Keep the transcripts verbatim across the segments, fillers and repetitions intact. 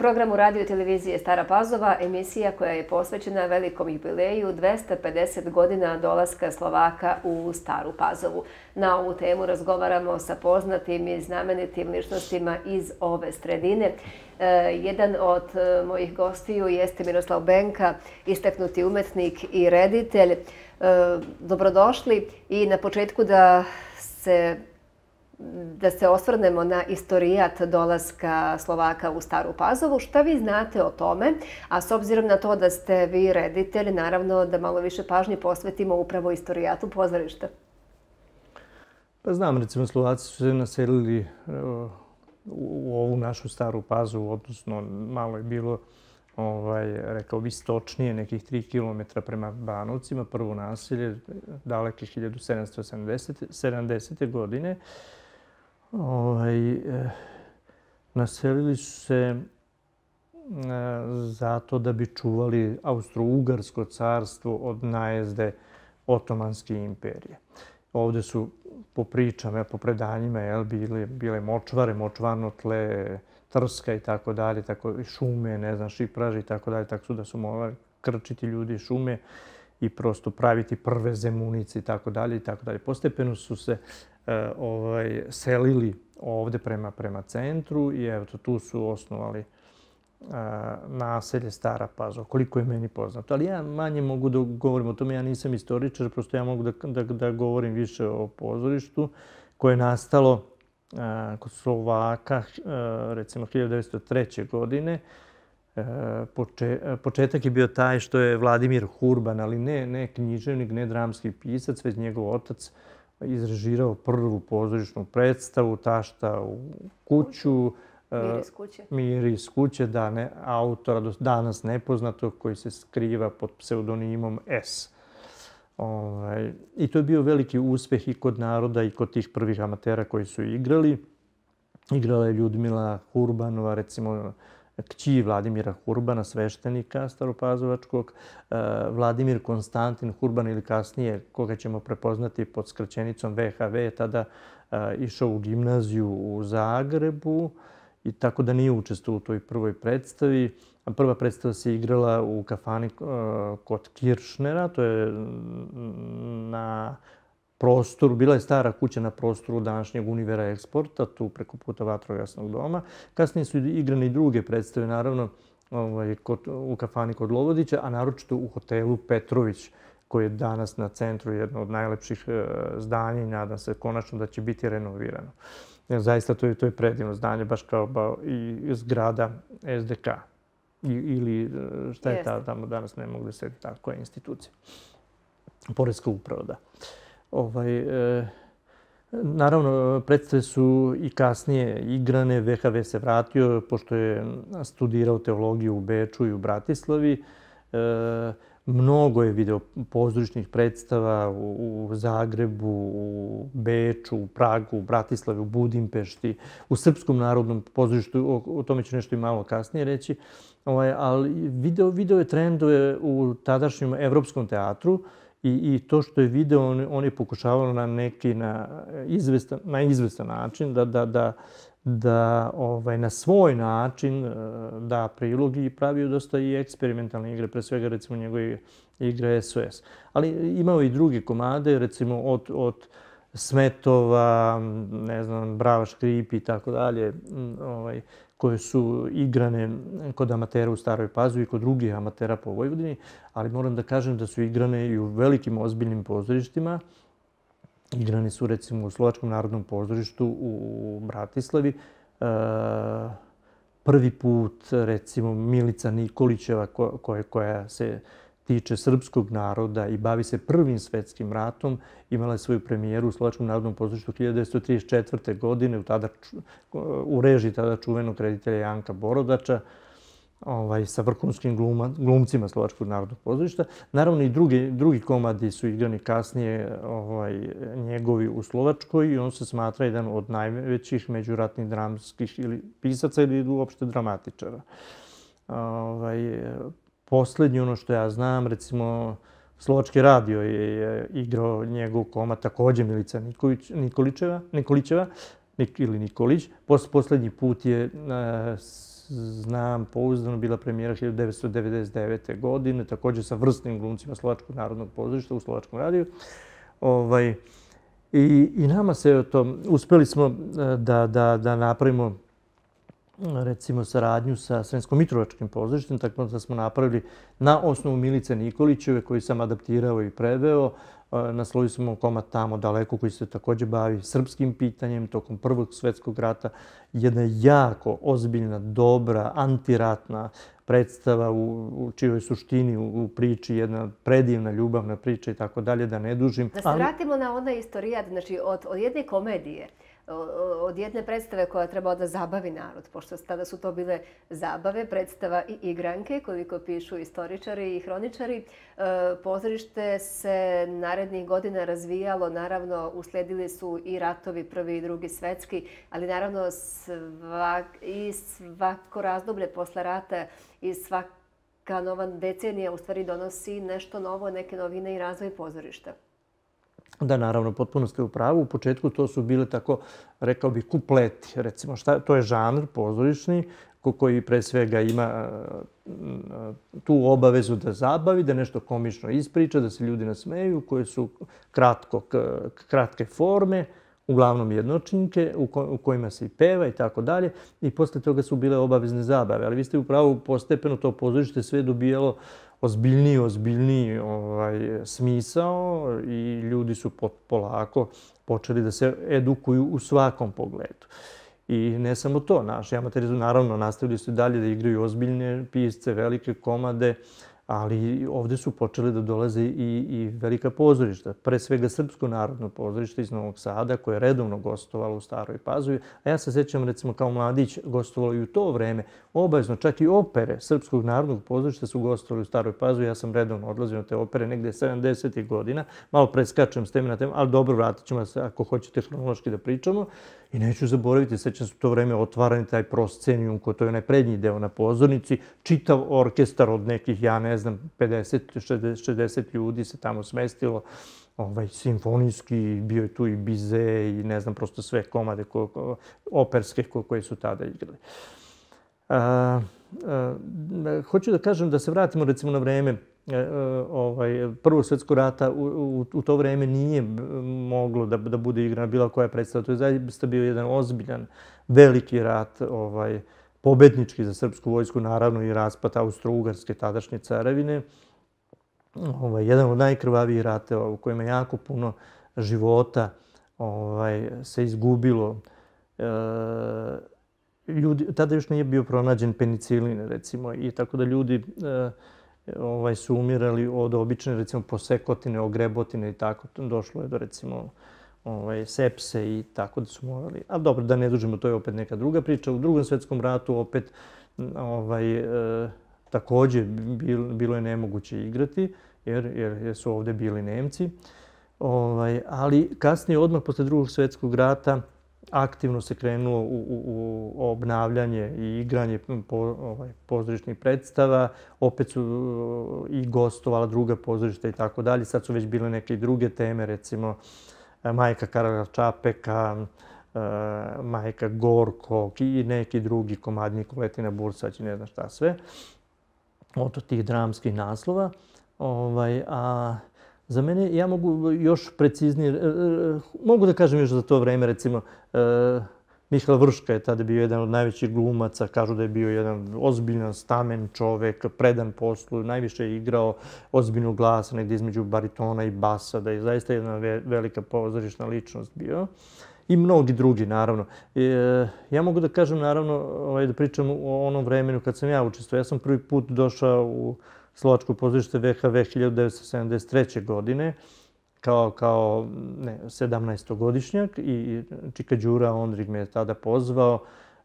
programu radio i televizije Stara Pazova emisija koja je posvećena velikom jubileju dvesta pedeset godina dolaska Slovaka u Staru Pazovu. Na ovu temu razgovaramo sa poznatim i znamenitim ličnostima iz ove sredine. Jedan od mojih gostiju jeste Miroslav Benka, istaknuti umetnik i reditelj. Dobrodošli i na početku da se da se osvrnemo na istorijat dolaska Slovaka u Staru Pazovu. Šta vi znate o tome? A s obzirom na to da ste vi reditelj, naravno da malo više pažnje posvetimo upravo istorijatu pozorišta. Pa znam, recimo, Slovaci su se naselili u ovu našu Staru Pazovu, odnosno malo je bilo, ovaj, rekao bi, istočnije, nekih tri kilometra prema Banovcima, prvo naselje, daleke hiljadu sedamsto sedamdesete. godine. Ovaj, eh, naselili su se eh, zato da bi čuvali Austro-Ugarsko carstvo od najezde Otomanske imperije. Ovdje su po pričama, po predanjima, jel, bile, bile močvare, močvarno tle, trska i tako dalje, tako i šume, ne znam, šipraži i tako dalje, tako su da su morali krčiti ljudi šume i prosto praviti prve zemunice i tako dalje i tako dalje. Postepeno su se e, ovaj, selili ovdje prema, prema centru i evo tu su osnovali e, naselje Stara Pazova, koliko je meni poznato. Ali ja manje mogu da govorim o tome, ja nisam istoričar, prosto ja mogu da, da, da govorim više o pozorištu koje je nastalo a, kod Slovaka, a, recimo hiljadu devetsto treće. godine. Poče, početak je bio taj što je Vladimir Hurban, ali ne, ne književnik, ne dramski pisac, već njegov otac izrežirao prvu pozorišnu predstavu Tašta u kuću. Mir iz kuće. Mir iz kuće, da, ne, autora do danas nepoznatog koji se skriva pod pseudonimom S. Ovaj, I to je bio veliki uspeh i kod naroda i kod tih prvih amatera koji su igrali. Igrala je Ljudmila Hurbanova, recimo, kći Vladimira Hurbana, sveštenika staropazovačkog, Vladimir Konstantin Hurban ili kasnije, koga ćemo prepoznati pod skraćenicom V H V, tada išao u gimnaziju u Zagrebu i tako da nije učestvovao u toj prvoj predstavi. Prva predstava se igrala u kafani kod Kiršnera, to je na prostoru, bila je stara kuća na prostoru današnjeg Univera Eksporta, tu preko puta Vatrogasnog doma. Kasnije su igrane i druge predstave, naravno, ovaj, kod, u kafani kod Lovodića, a naročito u hotelu Petrović, koji je danas na centru jedno od najlepših e, zdanja i nadam se konačno da će biti renovirano. Jer zaista to je, to je predivno zdanje, baš kao ba, i zgrada S D K. I, ili šta je ta, tamo danas, ne mogu da se tako, koja je institucija. Poreska uprava, da. Ovaj, e, naravno, predstave su i kasnije igrane. V H V se vratio, pošto je studirao teologiju u Beču i u Bratislavi. E, mnogo je video pozorišnih predstava u, u Zagrebu, u Beču, u Pragu, u Bratislavi, u Budimpešti, u Srpskom narodnom pozorištu. O, o tome ću nešto i malo kasnije reći. Ovaj, ali video, video je trendove u tadašnjem Evropskom teatru. I, I to što je video, on, on je pokušavao na neki na izvestan, na izvestan način da, da, da, da ovaj, na svoj način da prilog i pravio dosta i eksperimentalne igre, pre svega recimo njegove igre S O S. Ali imao i druge komade, recimo od, od Smetova, ne znam, Brava Škripi i tako dalje, ovaj, koje su igrane kod amatera u Staroj Pazovi i kod drugih amatera po Vojvodini, ali moram da kažem da su igrane i u velikim ozbiljnim pozorištima. Igrane su recimo u Slovačkom narodnom pozorištu u Bratislavi. E, prvi put recimo Milica Nikolićeva ko, koja, koja se tiče srpskog naroda i bavi se Prvim svetskim ratom, imala je svoju premijeru u Slovačkom narodnom pozorištu hiljadu devetsto trideset četvrte. godine u, tada, u režiji tada čuvenog reditelja Janka Borodača, ovaj, sa vrhunskim gluma, glumcima Slovačkog narodnog pozorišta. Naravno i drugi, drugi komadi su igrani kasnije ovaj, njegovi u Slovačkoj i on se smatra jedan od najvećih međuratnih dramskih ili pisaca ili uopšte dramatičara. Ovaj, Poslednji, ono što ja znam, recimo, Slovački radio je igrao njegov komad, također Milica Nikolić, Nikolićeva, Nikolićeva nik, ili Nikolić. Pos, poslednji put je znam pouzdano, bila premijera hiljadu devetsto devedeset devete. godine, također sa vrsnim glumcima Slovačkog narodnog pozorišta u Slovačkom radiju. Ovaj, i, I nama se to, uspeli smo da, da, da napravimo recimo saradnju sa Sremsko-Mitrovačkim pozorištem, tako da smo napravili na osnovu Milice Nikolićeve, koju sam adaptirao i preveo. Naslovili smo komad Tamo daleko, koji se također bavi srpskim pitanjem tokom Prvog svjetskog rata. Jedna jako ozbiljna, dobra, antiratna predstava u, u čijoj suštini u, u priči, jedna predivna ljubavna priča i tako dalje, da ne dužim. Da se ali... vratimo na onaj istorijat, znači od, od jedne komedije, od jedne predstave koja treba da zabavi narod, pošto tada su to bile zabave, predstava i igranke, koliko pišu istoričari i hroničari. Pozorište se narednih godina razvijalo, naravno uslijedili su i ratovi, prvi i drugi svetski, ali naravno svak, i svako razdoblje posle rata i svaka nova decenija u stvari donosi nešto novo, neke novine i razvoj pozorišta. Da, naravno, potpuno ste u pravu. U početku to su bile tako, rekao bih, kupleti. Recimo, šta, to je žanr pozorišni koji pre svega ima tu obavezu da zabavi, da nešto komično ispriča, da se ljudi nasmeju, koje su kratko, kratke forme, uglavnom jednočinke, u kojima se i peva i tako dalje. I posle toga su bile obavezne zabave. Ali vi ste u pravu, postepeno to pozorište sve dobijalo ozbiljniji, ozbiljniji ovaj, smisao i ljudi su polako počeli da se edukuju u svakom pogledu. I ne samo to, naši amateri su naravno nastavili su dalje da igraju ozbiljne pisce, velike komade, ali ovdje su počeli da dolaze i, i velika pozorišta. Pre svega Srpsko narodno pozorište iz Novog Sada, koje je redovno gostovalo u Staroj Pazovi. A ja se sjećam, recimo, kao mladić gostovalo i u to vreme. Obavezno, čak i opere Srpskog narodnog pozorišta su gostovali u Staroj Pazovi. Ja sam redovno odlazio na te opere negde sedamdesetih godina. Malo preskačem s teme na temu, ali dobro, vratit ćemo se ako hoćete hronološki da pričamo. I neću zaboraviti, sećam se u to vreme otvarani taj proscenijum, koji to je onaj prednji deo na pozornici, čitav orkestar od nekih, ja ne znam, pedeset šezdeset ljudi se tamo smestilo, ovaj, simfonijski, bio je tu i Bize i ne znam, prosto sve komade ko, ko, operske ko, koje su tada igrali. A, a, hoću da kažem da se vratimo recimo na vreme ovaj, Prvog svjetskog rata. U, u, u to vreme nije moglo da, da bude igrana bila koja predstava. To je zaista bio jedan ozbiljan, veliki rat, ovaj, pobednički za srpsku vojsku, naravno i raspad Austro-Ugarske tadašnje carevine. Ovaj, jedan od najkrvavijih rateva u kojima jako puno života ovaj, se izgubilo. E, ljudi, tada još nije bio pronađen penicilin, recimo, i tako da ljudi e, ovaj, su umirali od obične, recimo, posekotine, ogrebotine i tako. Došlo je do, recimo, ovaj, sepse i tako da su morali. Ali dobro, da ne dužimo, to je opet neka druga priča. U Drugom svjetskom ratu opet ovaj, e, također bil, bilo je nemoguće igrati jer, jer, jer su ovdje bili Nemci. Ovaj, ali kasnije, odmah posle Drugog svjetskog rata, aktivno se krenulo u, u, u obnavljanje i igranje po, ovaj, pozorišnih predstava. Opet su i gostovala druga pozorišta i tako dalje. Sad su već bile neke druge teme, recimo Majka Karla Čapeka, Majka Gorkog i neki drugi komadnik, Letina Bursać i ne znam šta sve. Od tih dramskih naslova. Ovaj, a za mene, ja mogu još preciznije, mogu da kažem još za to vreme, recimo, Mihael Vrška je tada bio jedan od najvećih glumaca, kažu da je bio jedan ozbiljan, stamen čovek, predan poslu, najviše je igrao ozbiljnog glasa, negdje između baritona i basa, da je zaista jedna velika pozorišna ličnost bio. I mnogi drugi, naravno. Ja mogu da kažem, naravno, da pričam o onom vremenu kad sam ja učestvovao. Ja sam prvi put došao u Slovačko pozorište V H V hiljadu devetsto sedamdeset treće. godine kao, kao ne, sedamnaestogodišnjak i Čika Đura Ondrig me je tada pozvao.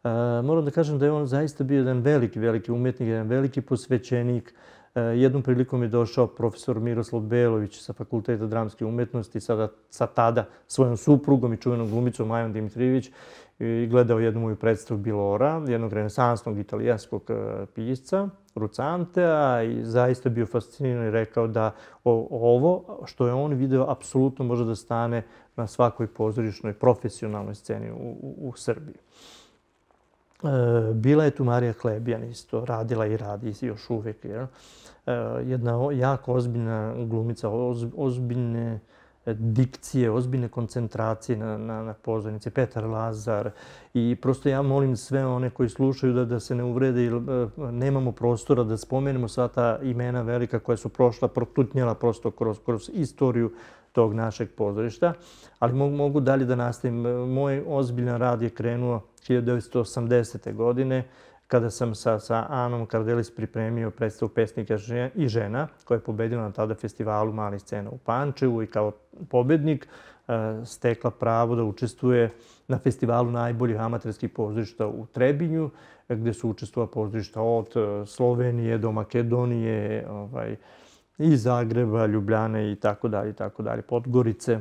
E, moram da kažem da je on zaista bio jedan veliki, veliki umetnik, jedan veliki posvećenik. E, jednom prilikom je došao profesor Miroslav Belović sa Fakulteta dramske umetnosti, sada, sa tada svojom suprugom i čuvenom glumicom Majom Dimitrijević, i gledao jednu moju predstavu Bilora, jednog renesansnog italijanskog pisca, Rucantea, i zaista bio fasciniran i rekao da ovo što je on video apsolutno može da stane na svakoj pozorišnoj profesionalnoj sceni u, u, u Srbiji. Bila je tu Marija Klebijan isto, radila i radi još uvijek. Jedna jako ozbiljna glumica, ozbiljne dikcije, ozbiljne koncentracije na, na, na pozornici. Petar Lazar. I prosto ja molim sve one koji slušaju da, da se ne uvrede, jer nemamo prostora da spomenemo sva ta imena velika koja su prošla, protutnjala prosto kroz, kroz istoriju tog našeg pozorišta. Ali mogu, mogu dalje da nastavim. Moj ozbiljan rad je krenuo hiljadu devetsto osamdesete. godine, kada sam sa, sa Anom Kardelis pripremio predstavu Pesnika i žena, koja je pobedila na tada festivalu malih scena u Pančevu i kao pobednik stekla pravo da učestvuje na festivalu najboljih amaterskih pozorišta u Trebinju, gdje su učestvovala pozorišta od Slovenije do Makedonije, ovaj, i Zagreba, Ljubljane i tako dalje, i tako dalje, Podgorice.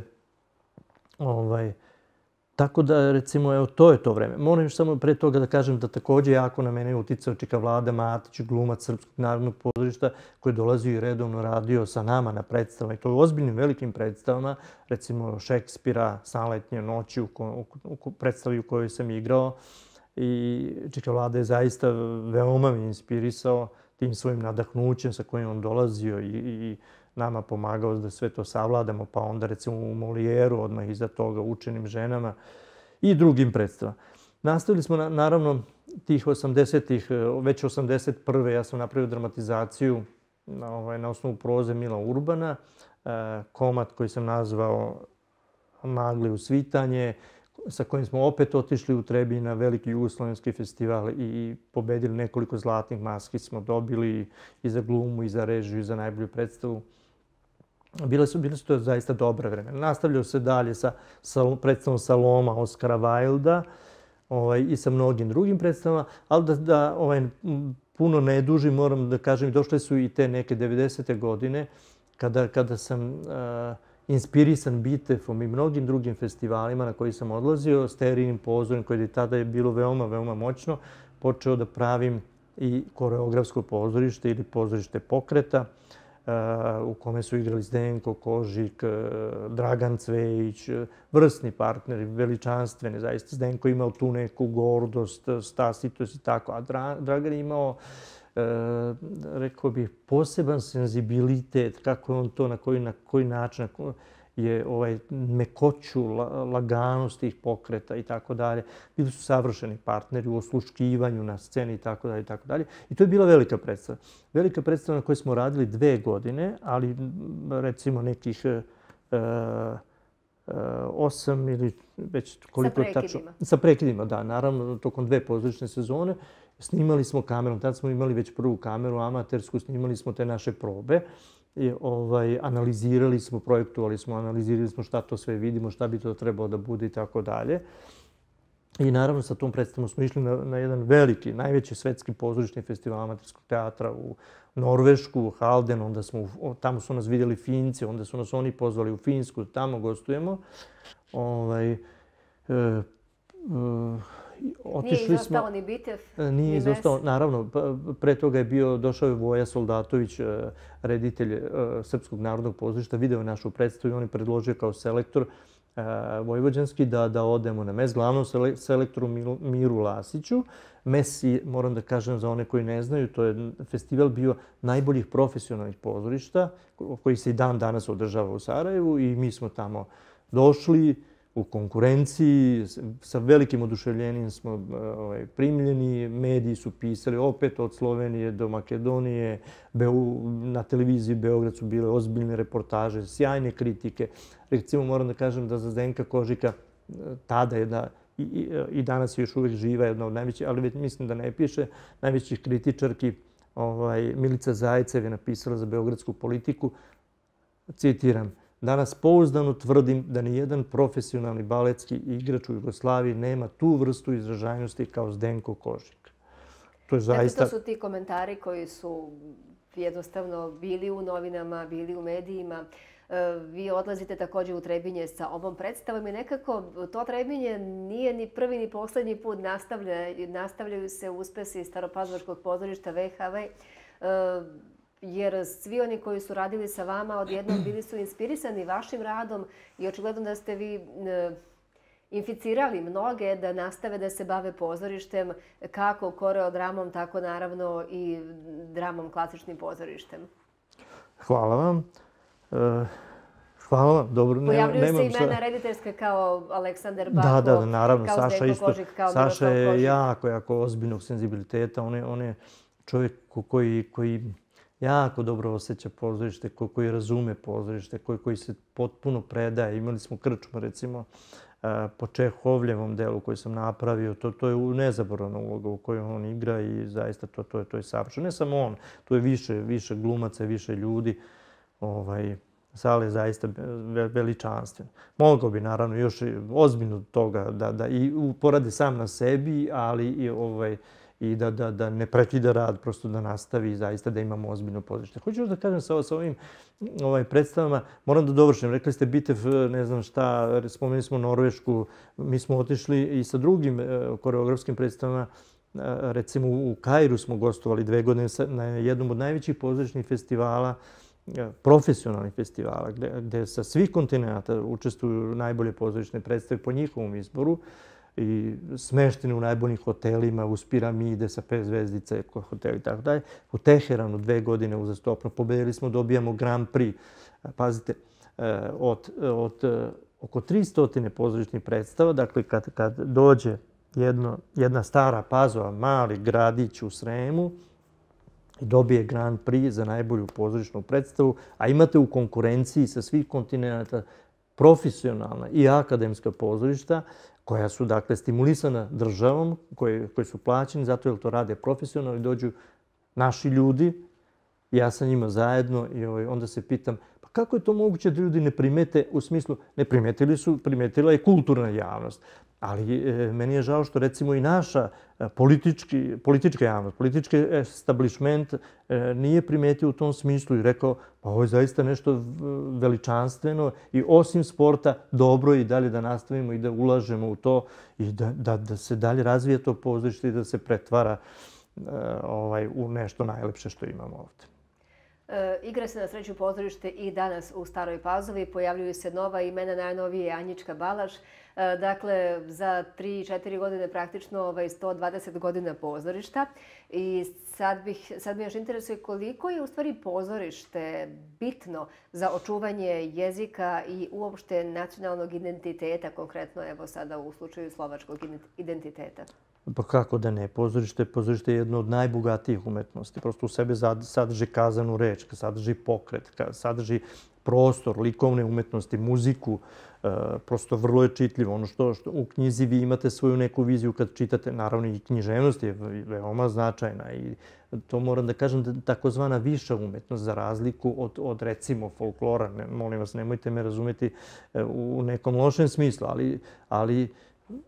Ovaj, Tako da, recimo, evo, to je to vreme. Moram još samo pre toga da kažem da također jako na mene je uticao Čika Vlada Matić, glumac Srpskog narodnog pozorišta, koji je dolazio i redovno radio sa nama na predstavama. I to u ozbiljnim velikim predstavama, recimo Šekspira, Sanletnje noći, u, ko, u, u predstavi u kojoj sam igrao. I Čika Vlada je zaista veoma me inspirisao tim svojim nadahnućem sa kojim on dolazio i, i nama pomagao da sve to savladamo, pa onda recimo u Molijeru, odmah iza toga Učenim ženama i drugim predstavama. Nastavili smo na, naravno tih osamdesetih, već osamdeset prve. ja sam napravio dramatizaciju na, ovaj, na osnovu proze Mila Urbana, e, komad koji sam nazvao Magli u svitanje, sa kojim smo opet otišli u Trebinj na veliki jugoslovenski festival i pobedili nekoliko zlatnih maski smo dobili i za glumu, i za režiju, i za najbolju predstavu. Bile su, bile su to zaista dobra vremena. Nastavljao se dalje sa, sa predstavom Saloma Oskara Wilda ovaj, i sa mnogim drugim predstavama, ali da, da ovaj, puno ne dužim, moram da kažem, došle su i te neke devedesete. godine, kada, kada sam uh, inspirisan Bitefom i mnogim drugim festivalima na koji sam odlazio, Sterinim pozorem, koje je tada je bilo veoma, veoma moćno, počeo da pravim i koreografsko pozorište ili pozorište pokreta, u kome su igrali Zdenko Kožik, Dragan Cvejić, vrsni partneri, veličanstveni. Zaista Zdenko imao tu neku gordost, stasitost i tako, a Dragan je imao, rekao bih, poseban senzibilitet, kako je on to, na koji, na koji način je ovaj mekoću, laganost tih pokreta i tako dalje. Bili su savršeni partneri u osluškivanju na sceni i tako dalje i tako dalje. I to je bila velika predstava. Velika predstava na kojoj smo radili dve godine, ali recimo nekih uh, uh, osam ili već koliko je tačno. Sa prekidima, da. Naravno, tokom dve pozorišne sezone. Snimali smo kamerom, tad smo imali već prvu kameru amatersku, snimali smo te naše probe. I, ovaj, analizirali smo, projektovali smo, analizirali smo šta to sve vidimo, šta bi to trebalo da bude i tako dalje. I naravno sa tom predstavom smo išli na, na jedan veliki, najveći svetski pozorišni festival amaterskog teatra u Norvešku, u Halden, onda smo, tamo su nas vidjeli Finci, onda su nas oni pozvali u Finsku, tamo gostujemo. Ovaj, e, e, Nije izostao ni Bitev, Nije izostao. Naravno, pre toga je bio, došao je Voja Soldatović, reditelj Srpskog narodnog pozorišta, video je našu predstavu i on je predložio kao selektor vojvođanski da, da odemo na mes, glavnom selektoru Miru Lasiću. Mes, moram da kažem za one koji ne znaju, to je festival bio najboljih profesionalnih pozorišta, koji se i dan danas održava u Sarajevu i mi smo tamo došli u konkurenciji, sa velikim oduševljenjem smo ovaj, primljeni, mediji su pisali opet od Slovenije do Makedonije, Beu, na televiziji Beograd su bile ozbiljne reportaže, sjajne kritike. Recimo moram da kažem da za Zdenka Kožika tada je da i, i, i danas je još uvijek živa, jedna od najvećih, ali već mislim da ne piše, najvećih kritičarki, ovaj, Milica Zajcev je napisala za Beogradsku politiku, citiram, danas pouzdano tvrdim da nijedan profesionalni baletski igrač u Jugoslaviji nema tu vrstu izražajnosti kao Zdenko Kožik. To je zaista... Dakle, to su ti komentari koji su jednostavno bili u novinama, bili u medijima. Vi odlazite također u Trebinje sa ovom predstavom i nekako to Trebinje nije ni prvi ni posljednji put nastavlja, nastavljaju se uspesi Staropazarskog pozorišta V H V. Jer svi oni koji su radili sa vama odjednom bili su inspirisani vašim radom i očigledno da ste vi inficirali mnoge da nastave da se bave pozorištem, kako koreodramom, tako naravno i dramom, klasičnim pozorištem? Hvala vam. E, hvala vam. Dobro, pojavljuju nemam se šta... imena rediteljske kao Aleksandar Bako, da, da, naravno, kao Saša Zdenko isto, Kožik, kao Saša Miroslav je Kožik. jako, jako ozbiljnog senzibiliteta. On je, on je čovjek koji, koji jako dobro osjeća pozorište, koji, koji razume pozorište, koji, koji se potpuno predaje. Imali smo krčmu, recimo, po Čehovljevom delu koji sam napravio. To, to je nezaboravna uloga u kojoj on igra i zaista to, to, je, to je savršeno. Ne samo on, tu je više, više glumaca, više ljudi. Ovaj, Sale je zaista veličanstven. Mogao bi naravno još ozbiljno toga da, da i poradi sam na sebi, ali i, ovaj, i da, da, da ne prekida rad, prosto da nastavi i zaista da imamo ozbiljno pozorište. Hoću još da kažem sa, sa ovim ovaj, predstavama, moram da dovršim. Rekli ste Bitev, ne znam šta, spomenuli smo Norvešku, mi smo otišli i sa drugim koreografskim predstavama. Recimo u Kairu smo gostovali dve godine na jednom od najvećih pozorišnih festivala, profesionalnih festivala, gde, gde sa svih kontinenta učestvuju najbolje pozorišne predstave po njihovom izboru i smešteni u najboljim hotelima, uz piramide sa pet zvezdice, hoteli i tako dalje. U Teheranu dve godine uzastopno pobedili smo, dobijamo Grand Prix. Pazite, od, od oko tristo pozorišnih predstava, dakle kad, kad dođe jedno, jedna stara Pazova, mali gradić u Sremu, i dobije Grand Prix za najbolju pozorišnu predstavu, a imate u konkurenciji sa svih kontinenta profesionalna i akademska pozorišta koja su dakle stimulisana državom, koje, koje su plaćeni zato jer to rade profesionalno i dođu naši ljudi, ja sa njima zajedno i ovaj, onda se pitam pa kako je to moguće da ljudi ne primete, u smislu ne primetili su, primetila je kulturna javnost. Ali e, meni je žao što recimo i naša politički, politička javnost, politički establishment e, nije primetio u tom smislu i rekao pa ovo je zaista nešto veličanstveno i osim sporta dobro i dalje da nastavimo i da ulažemo u to i da, da, da se dalje razvije to pozorište i da se pretvara e, ovaj, u nešto najlepše što imamo ovdje. E, igra se na sreću pozorište i danas u Staroj Pazovi. Pojavljuju se nova imena, najnovije Anjička Balaš. E, dakle, za tri četiri godine praktično ovaj, sto dvadeset godina pozorišta. I sad, bih, sad me još interesuje koliko je u stvari pozorište bitno za očuvanje jezika i uopšte nacionalnog identiteta, konkretno evo sada u slučaju slovačkog identiteta. Pa kako da ne? Pozorište, pozorište je jedno od najbogatijih umetnosti. Prosto u sebe sadrži kazanu reč, sadrži pokret, sadrži prostor, likovne umetnosti, muziku. E, prosto vrlo je čitljivo. Ono što, što u knjizi vi imate svoju neku viziju kad čitate, naravno i književnost je veoma značajna. I to moram da kažem da takozvana viša umetnost za razliku od, od recimo folklora. Ne, molim vas, nemojte me razumjeti u nekom lošem smislu, ali, ali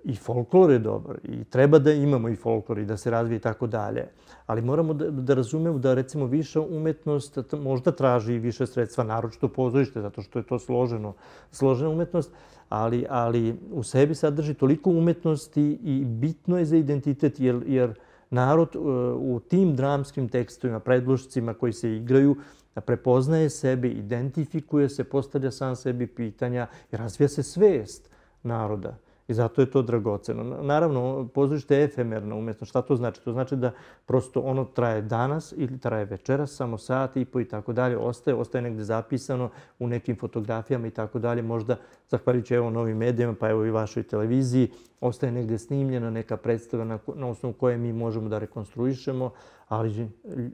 i folklor je dobar i treba da imamo i folklor i da se razvije i tako dalje. Ali moramo da, da razumemo da recimo viša umetnost možda traži i više sredstva, naročito pozorište, zato što je to složeno, složena umetnost, ali, ali u sebi sadrži toliko umetnosti i bitno je za identitet jer, jer narod u tim dramskim tekstovima, predlošcima koji se igraju, prepoznaje sebe, identifikuje se, postavlja sam sebi pitanja i razvija se svest naroda. I zato je to dragoceno. Naravno, pozorište je efemerna umjetnost. Šta to znači? To znači da prosto ono traje danas ili traje večeras, samo sat i po i tako dalje. Ostaje, ostaje negdje zapisano u nekim fotografijama i tako dalje. Možda, zahvaljujući evo novim medijama, pa evo i vašoj televiziji, ostaje negdje snimljena neka predstava na, na osnovu koje mi možemo da rekonstruišemo, ali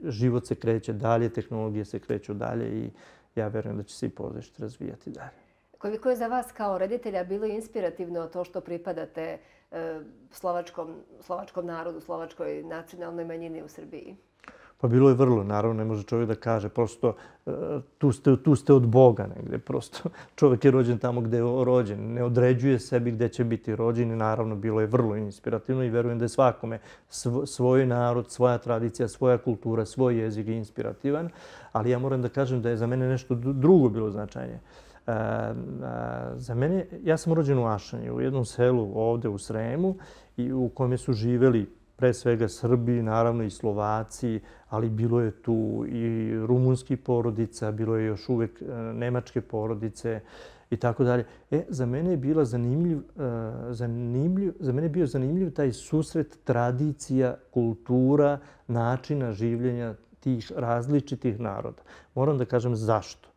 život se kreće dalje, tehnologije se kreću dalje i ja verujem da će se i pozorište razvijati dalje. Koliko je za vas kao reditelja bilo inspirativno to što pripadate e, slovačkom, slovačkom narodu, slovačkoj nacionalnoj manjini u Srbiji? Pa bilo je vrlo, naravno, ne može čovjek da kaže. Prosto tu ste, tu ste od Boga negdje. Prosto čovjek je rođen tamo gdje je rođen. Ne određuje sebi gdje će biti rođen i naravno bilo je vrlo inspirativno i verujem da je svakome svoj narod, svoja tradicija, svoja kultura, svoj jezik je inspirativan. Ali ja moram da kažem da je za mene nešto drugo bilo značajnije. Uh, uh, za mene, ja sam rođen u Ašanji, u jednom selu ovdje u Sremu i u kome su živjeli pre svega Srbi, naravno i Slovaci, ali bilo je tu i rumunskih porodica, bilo je još uvek nemačke porodice i tako dalje. E, za mene je bila zanimljiv, zanimljiv, za mene je bio zanimljiv taj susret tradicija, kultura, načina življenja tih različitih naroda. Moram da kažem zašto.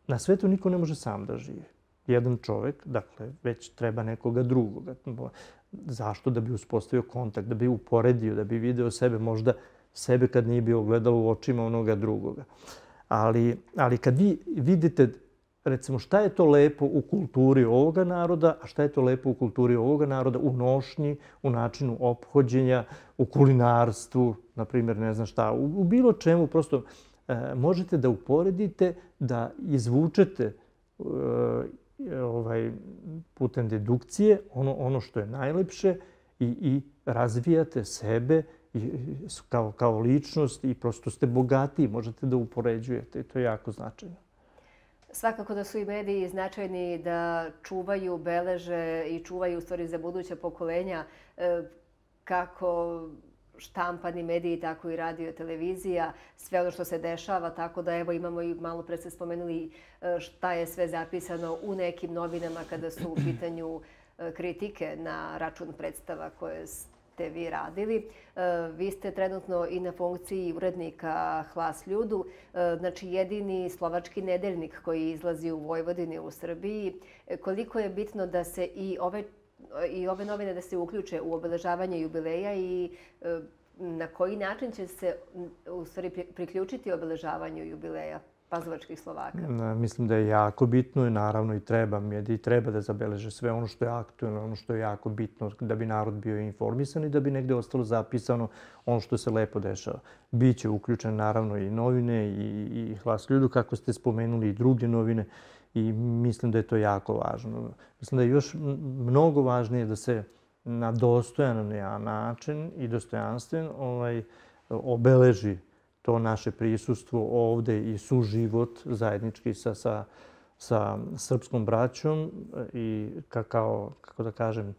Na svetu niko ne može sam da živi. Jedan čovek, dakle, već treba nekoga drugoga. Zašto? Da bi uspostavio kontakt, da bi uporedio, da bi video sebe, možda sebe kad nije bio gledalo u očima onoga drugoga. Ali, ali kad vi vidite, recimo, šta je to lepo u kulturi ovoga naroda, a šta je to lepo u kulturi ovoga naroda, u nošnji, u načinu ophođenja, u kulinarstvu, na primjer, ne znam šta, u, u bilo čemu, prosto e, možete da uporedite, da izvučete e, ovaj, putem dedukcije ono, ono što je najlepše i, i razvijate sebe i, kao, kao ličnost i prosto ste bogatiji, možete da upoređujete i to je jako značajno. Svakako da su i mediji značajni da čuvaju, beleže i čuvaju u stvari za buduća pokolenja kako štampani mediji, tako i radio, televizija, sve ono što se dešava, tako da evo imamo i malo pre ste spomenuli šta je sve zapisano u nekim novinama kada su u pitanju kritike na račun predstava koje ste vi radili. Vi ste trenutno i na funkciji urednika Hlas ljudu, znači jedini slovački nedeljnik koji izlazi u Vojvodini u Srbiji. Koliko je bitno da se i ove i ove novine da se uključe u obeležavanje jubileja i na koji način će se u stvari priključiti obeležavanju jubileja pazovačkih Slovaka? Mislim da je jako bitno i naravno i treba, mediji treba da zabeleže sve ono što je aktuelno, ono što je jako bitno da bi narod bio informisan i da bi negde ostalo zapisano ono što se lepo dešava. Biće uključene naravno i novine i, i Hlas ljudu, kako ste spomenuli, i druge novine. I mislim da je to jako važno. Mislim da je još mnogo važnije da se na dostojan način i dostojanstven ovaj, obeleži to naše prisustvo ovde i suživot zajednički sa, sa, sa srpskom braćom i kao, kako da kažem,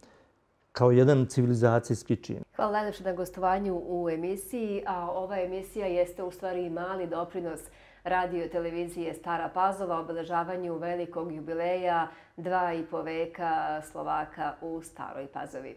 kao jedan civilizacijski čin. Hvala najlepše na gostovanju u emisiji, a ova emisija jeste u stvari mali doprinos radio televizije Stara Pazova obeležavanju velikog jubileja dva i po veka Slovaka u Staroj Pazovi.